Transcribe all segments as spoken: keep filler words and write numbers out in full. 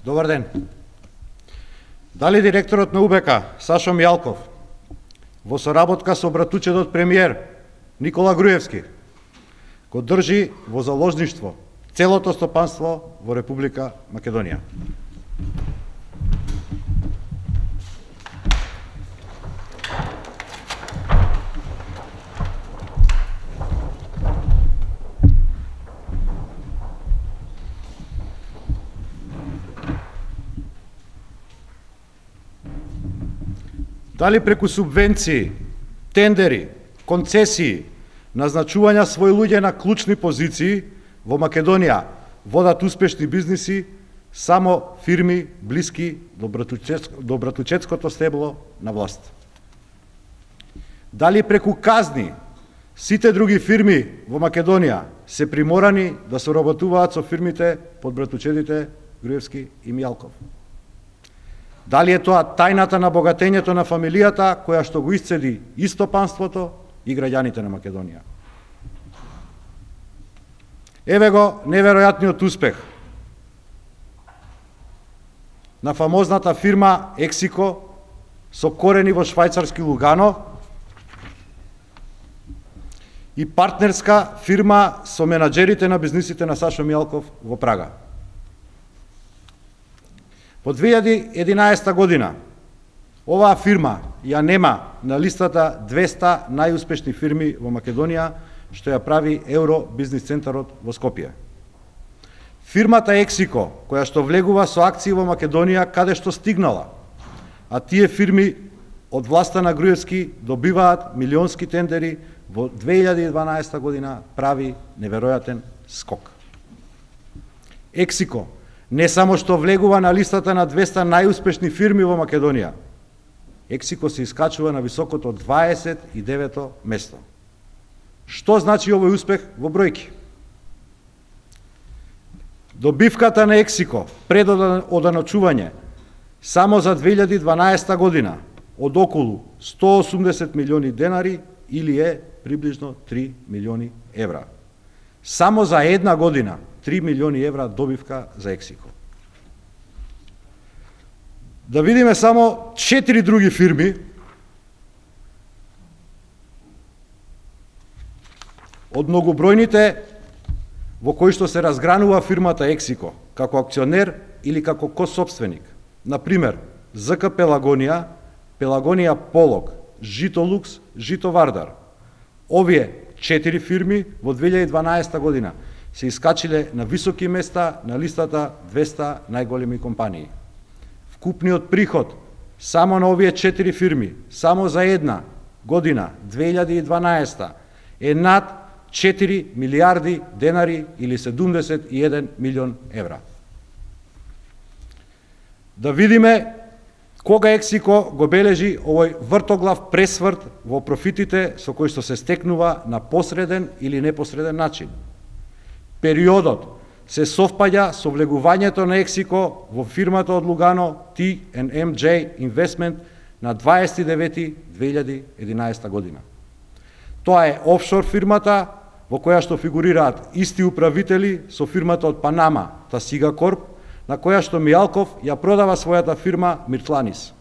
Добар ден. Дали директорот на У Б К, Сашо Мијалков, во соработка со братучедот премиер Никола Груевски, го држи во заложништво целото стопанство во Република Македонија? Дали преку субвенции, тендери, концесии, назначувања своји луѓе на клучни позиции во Македонија водат успешни бизниси само фирми блиски до, братучец, до братучетското стебло на власт? Дали преку казни сите други фирми во Македонија се приморани да соработуваат со фирмите под братучедите Груевски и Мијалков? Дали е тоа тајната на богатењето на фамилијата која што го исцеди и стопанството и граѓаните на Македонија? Еве го неверојатниот успех на фамозната фирма Ексико со корени во швајцарски Лугано и партнерска фирма со менаџерите на бизнисите на Сашо Мијалков во Прага. Во две илјади и единаесета година оваа фирма ја нема на листата двеста најуспешни фирми во Македонија, што ја прави Евро бизнис центарот во Скопје. Фирмата Ексико, која што влегува со акции во Македонија, каде што стигнала, а тие фирми од власта на Груевски добиваат милионски тендери, во две илјади и дванаесета година прави неверојатен скок. Ексико не само што влегува на листата на двеста најуспешни фирми во Македонија, Ексико се искачува на високото дваесет и девето место. Што значи овој успех во бројки? Добивката на Ексико пред оданочување само за две илјади и дванаесета година од околу сто осумдесет милиони денари или е приближно три милиони евра. Само за една година три милиони евра добивка за Ексико. Да видиме само четири други фирми од многобројните во кои што се разгранува фирмата Ексико како акционер или како косопственик. Например, З К Пелагонија, Пелагонија Полог, Житолукс, Жито Вардар. Овие четири фирми во две илјади и дванаесета година се искачиле на високи места на листата двеста најголеми компании. Вкупниот приход само на овие четири фирми, само за една година, две илјади и дванаесета, е над четири милиарди денари или седумдесет и еден милион евра. Да видиме кога Ексико го бележи овој вртоглав пресврт во профитите со кои што се стекнува на посреден или непосреден начин. Периодот се совпаѓа со влегувањето на Ексико во фирмата од Лугано Ти енд Ем Џеј Investment на дваесет и девети две илјади и единаесета година. Тоа е офшор фирмата во која што фигурираат исти управители со фирмата од Панама Тасига Корп, на која што Мијалков ја продава својата фирма Миртланис.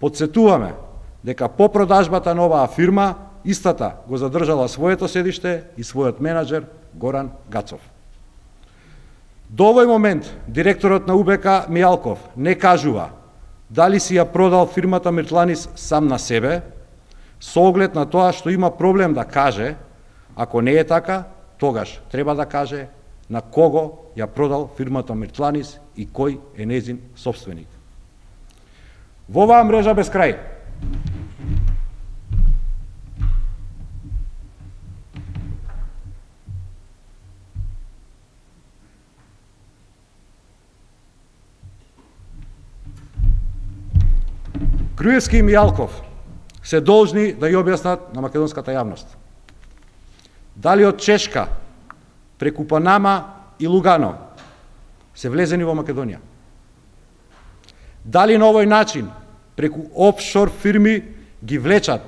Подсетуваме дека по продажбата на оваа фирма истата го задржала своето седиште и својот менаџер Горан Гацов. До овој момент директорот на У Б К Мијалков не кажува дали си ја продал фирмата Миртланис сам на себе, со оглед на тоа што има проблем да каже. Ако не е така, тогаш треба да каже на кого ја продал фирмата Миртланис и кој е нејзин собственик. Во оваа мрежа без крај Груевски и Мијалков се должни да ја објаснат на македонската јавност дали од Чешка, преку Панама и Лугано се влезени во Македонија. Дали на овој начин, преку офшор фирми, ги влечат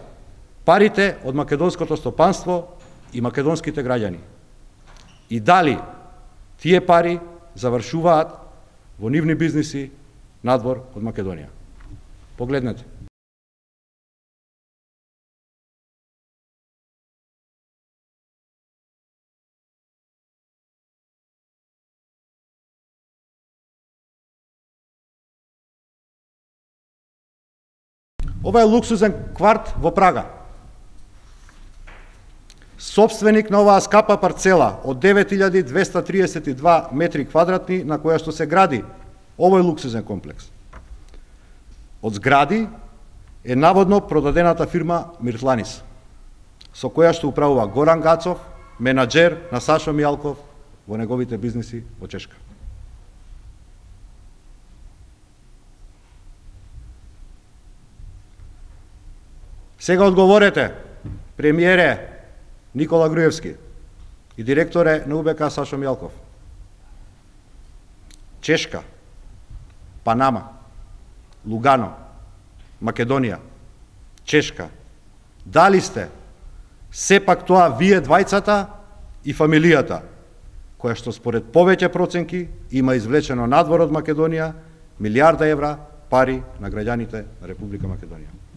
парите од македонското стопанство и македонските граѓани. И дали тие пари завршуваат во нивни бизниси надвор од Македонија. Погледнете. Ова е луксузен кварт во Прага. Собственик на оваа скапа парцела од девет илјади двесте триесет и два метри квадратни на која што се гради овој луксузен комплекс. Од згради е наводно продадената фирма Миртланис, со која што управува Горан Гацов, менаџер на Сашо Мијалков во неговите бизниси во Чешка. Сега одговорете, премиере Никола Груевски и директоре на УБК Сашо Мијалков. Чешка, Панама, Лугано, Македонија, Чешка. Дали сте сепак тоа вие двајцата и фамилијата, која што според повеќе проценки има извлечено надвор од Македонија милијарда евра пари на граѓаните на Република Македонија.